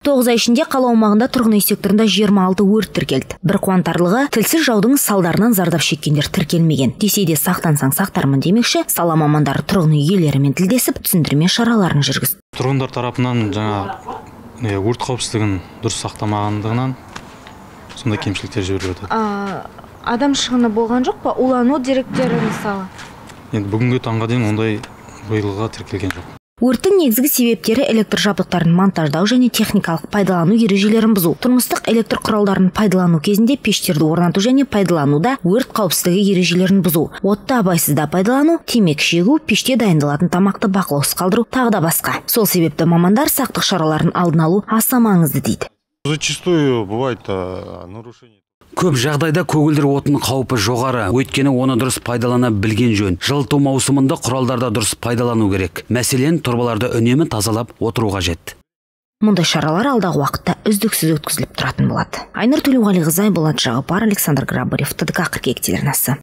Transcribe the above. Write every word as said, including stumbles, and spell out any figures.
тоғыз ай ішінде қала аумағында тұрғын үй секторында жиырма алты өрт тіркелді. Бір қуантарлығы, тілсіз жаудың салдарынан зардап шеккендер тіркелмеген. Десе де сақтансаң сақтармын демекші, сала мамандары тұрғын үй иелерімен тілдесіп, түсіндірме шараларын жүргізді. Тұрғындар тарапынан жаңа өрт қауіпсіздігін дұрыс сақтамағандығынан сондай кемшіліктер жіберілді. Адам шығыны болған жоқ па? Улану деректері мысалы? Енді бүгінгі таңға дейін ондай биылға тіркелген жоқ. Өрттің негізгі себептері электр жабдықтарын монтаждау және техникалық пайдалану ережелерін бұзу. Тұрмыстық электр құралдарын пайдалану кезінде пештерді орнату және пайдалануда өрт қауіпсіздігі ережелерін бұзу. Отты абайсызда пайдалану, темекі шегу, пеште дайындалатын тамақты бақылаусыз қалдыру тағы да басқа. Сол себепті мамандар сақтық шараларын алдын алу аса маңызды дейді. Зачастую бывает нарушение. Көп жағдайда көгілдір отын қаупі жоғары, өйткені оны дұрыс пайдалана білген жөн. Жылыту маусымында құралдарды дұрыс пайдалану керек. Мәселен, тұрбаларды үнемі тазалап отыру қажет. Мұндай шаралар алдағы уақытта үздіксіз өткізіліп тұратын болады. Айнұр Төлеуғалиқызы, Болат Жағыпар, Александр Грабарев, ТДК қырық екі телеарнасы.